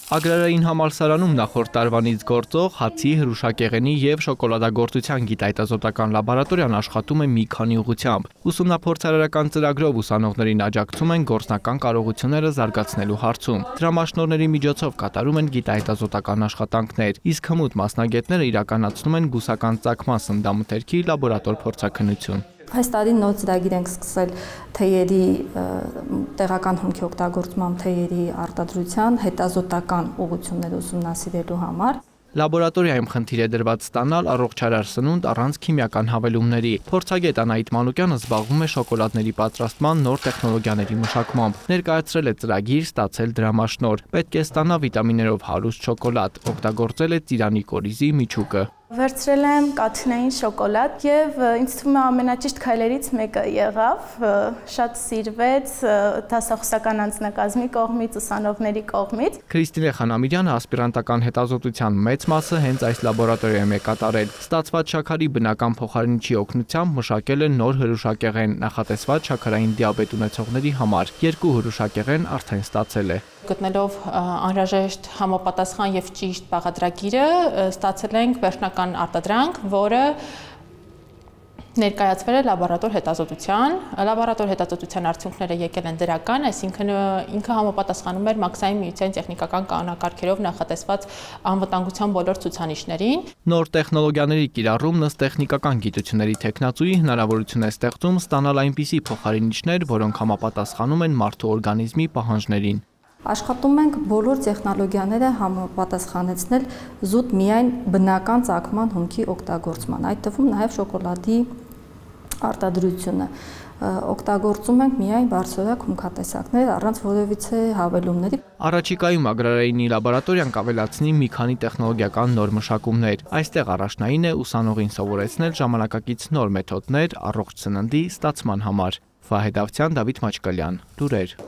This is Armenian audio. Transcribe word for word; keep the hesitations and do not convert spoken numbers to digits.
Ագրարային համալսարանում նախորդ տարվանից գործող հացի, հրուշակեղենի և շոկոլադագործության գիտահետազոտական լաբորատորիան աշխատում է մի քանի ուղղությամբ։ Ուսումնափորձարարական ծրագրով ուսանողներին աջակցում են գործնական կարողությունները զարգացնելու հարցում։ Դրամաշնորհների միջոցով կատարում են գիտահետազոտական աշխատանքներ, իսկ հմուտ մասնագետները իրականացնում են բուսական ծագման սննդամթերքի լաբորատոր փորձաքննություն։ Այս տարի նոր ծրագիր ենք սկսել թեյերի տեղական հումքի օգտագործման թեյերի արտադրության հետազոտական ուղղություններ ուսումնասիրելու համար։ Լաբորատորիայում խնդիր է դրված ստանալ առողջարար սնունդ առանց քիմիական հավելումների։ Փորձագետ Անահիտ Մանուկյանը զբաղվում է շոկոլադների պատրաստման նոր տեխնոլոգիաների մշակմամբ։ Ներկայացրել է ծրագիր, ստացել դրամաշնորհ։ Պետք է ստանա վիտամիններով հարուստ շոկոլադ, օգտագործել է ծիրանի կորիզի միջուկը։ Վերցրել եմ կաթնային շոկոլադ և ինձ թվում է ամենաճիշտ քայլերից մեկը եղավ, շատ սիրվեց դասախոսական անձնակազմի կողմից, ուսանողների կողմից։ Քրիստինե Խանամիրյանը ասպիրանտական հետազոտության մեծ մասը հենց այս լաբորատորիայում է կատարել։ Ստացված շաքարի բնական փոխարինչի օգնությամբ մշակել է նոր հրուշակեղեն, նախատեսված շաքարային դիաբետ ունեցողների համար։ Երկու հրուշակեղեն արդեն ստացել է։ Գտնելով անհրաժեշտ համապատասխան և ճիշտ բաղադրագիրը, ստացել ենք վերջնական արտադրանք, որը ներկայացվել է լաբորատոր հետազոտության։ Լաբորատոր հետազոտության արդյունքները եկել են դրական, այսինքն ինքը համապատասխանում էր Մաքսային միության տեխնիկական կանոնակարգերով նախատեսված անվտանգության բոլոր ցուցանիշներին։ Նոր տեխնոլոգիաների կիրառումն ըստ տեխնիկական գիտությունների թեկնածուի հնարավորություն է ստեղծում ստանալ այնպիսի փոխարինիչներ, որոնք համապատասխանում են մարդու օրգանիզմի պահանջներին։ Աշխատում ենք բոլոր տեխնոլոգիաները համապատասխանեցնել զուտ միայն բնական ծագման հումքի օգտագործման, այդ թվում նաև շոկոլադի արտադրությունը։ Օգտագործում ենք միայն բարձրորակ հումքատեսակներ առանց որևիցե հավելումների։ Առաջիկայում ագրարայինի լաբորատորիան կավելացնի մի քանի տեխնոլոգիական նոր մշակումներ։ Այստեղ առաջնային է ուսանողին սովորեցնել ժամանակակից նոր մեթոդներ առողջ սննդի ստացման համար։ Վահե Դավթյան, Դավիթ Մաչկալյան, լուրեր։